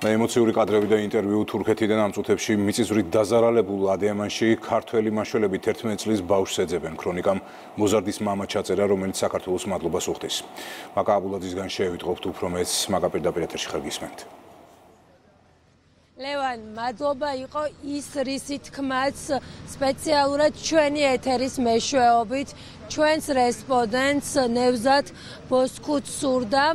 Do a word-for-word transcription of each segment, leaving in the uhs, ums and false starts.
ემოციური კადრები და ინტერვიუ თურქეთიდან ამ წუთებში მიწისძვრით დაზარალებულ ადიამანში ქართველი მაშველები თერთმეტი წლის ბავშვს ეძებენ. ქრონიკამ მოზარდის მამა ჩაწერა, რომელიც საქართველოს მადლობას უხდის. მაკა აბულაძისგან შევიტყობთ უფრო მეც, მაკა პირდაპირ ეთერში ხარ გისმენთ. ლევან, მადლობა იყო ის რისი თქმაც სპეციალურად ჩვენი ეთერის მეშვეობით ჩვენს რესპონდენტს ნევზად ბოსქუც სურდა.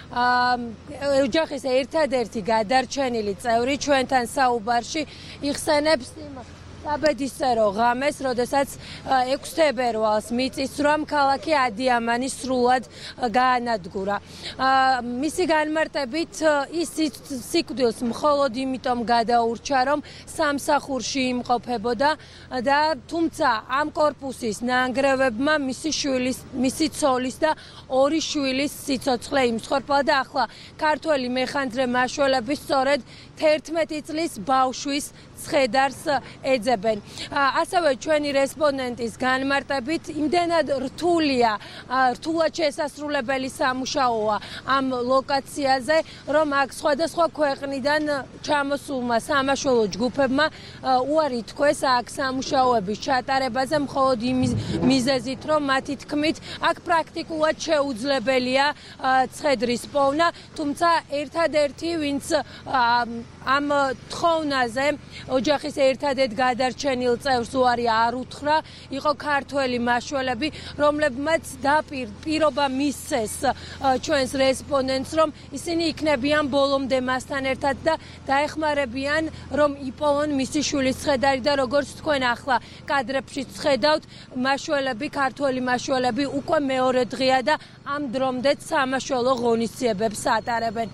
ოჯახის ერთადერთი გადარჩენილი წევრი ჩვენთან საუბარში იხსენებს იმ საბედისწერო ღამეს, როდესაც ექვსი თებერვალს მიწისძვრამ ქალაქი ადიამანი სრულად გაანადგურა. მისი განმარტებით ის სიკვდილს მხოლოდ იმიტომ გადაურჩა, რომ სამსახურში იმყოფებოდა და თუმცა ამ კორპუსის ნანგრევებმა მისი შვილის, მისი ცოლის და ორი შვილის სიცოცხლე იმსხორპლა და ახლა ქართველი მეხანძრე მაშველები სწორედ თერთმეტი წლის ბავშვის ცხედარს ეძებენ. ასევე ჩვენი რესპონდენტის განმარტებით იმდენად რთულია, რთულად შესასრულებელი სამუშაოა ამ ლოკაციაზე, რომ აქ სხვადასხვა ქვეყნიდან ჩამოსულმა სამაშველო ჯგუფებმა უარი თქვეს აქ სამუშაოების ჩატარებაზე მხოლოდ იმის მიზეზით, რომ მათი თქმით აქ პრაქტიკულად შეუძლებელია ცხედრის პოვნა, თუმცა ერთადერთი ვინც ამ თხოვნაზე ოჯახის ერთადერთ გადარჩენილ წევრს უარი არ უთხრა, იყო ქართველი მაშველები, რომლებმაც პირობა მისცეს ჩვენს რესპონდენტს, რომ ისინი იქნებიან ბოლომდე მასთან ერთად და დაეხმარებიან, რომ იპოვონ მისი შვილის ცხედარი და როგორც თქვენ ახლა კადრებში ხედავთ, მაშველები, ქართველი მაშველები უკვე მეორე დღეა და ამ დრომდე სამაშველო ღონისძიებებს ატარებენ.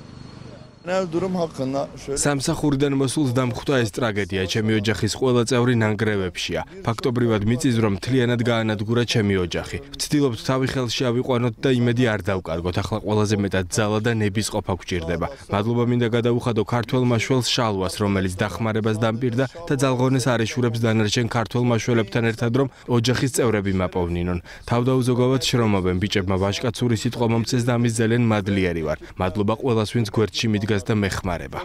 სამსახურიდან მოსულს დამხვდა ეს ტრაგედია ჩემი ოჯახის ყველა წევრი ნანგრევებშია. ფაქტობრივად მიწისძვრამ მთლიანად გაანადგურა ჩემი ოჯახი. ვცდილობთ თავი ხელში ავიყვანოთ და იმედი არ დავკარგოთ. ახლა ყველაზე მეტად ძალა და ნების ყოფა გვჭირდება. მადლობა მინდა გადაუხადო ქართველ მაშველს შალვას, რომელიც დახმარებას დამპირდა და ძალღონეს არ ეშურებს დანარჩენ ქართველ მაშველებთან ერთად, რომ ოჯახის წევრები მაპოვნინონ. თავდაუზოგავად შრომობენ, ბიჭებმა ვაჟკაცური სიტყვა მომწეს და ამის ძალიან მადლიერი ვარ. მადლობა ყველას, ვინც გვერდში მიდგა და მეხმარება.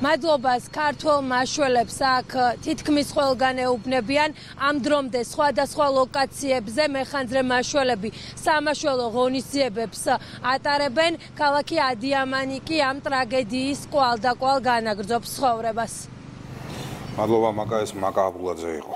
მადლობას ქართველ მაშველებს აქ თითქმის ყველგან ეუბნებიან. ამ დრომდე სხვადასხვა ლოკაციებზე მეხანძრე მაშველები სამაშველო ღონისძიებებს ატარებენ. ქალაქი ადიამანი კი ამ ტრაგედიის კვალდაკვალ განაგრძობს ცხოვრებას. მადლობა, მაკა ეს მაკა აბულაძე იყო.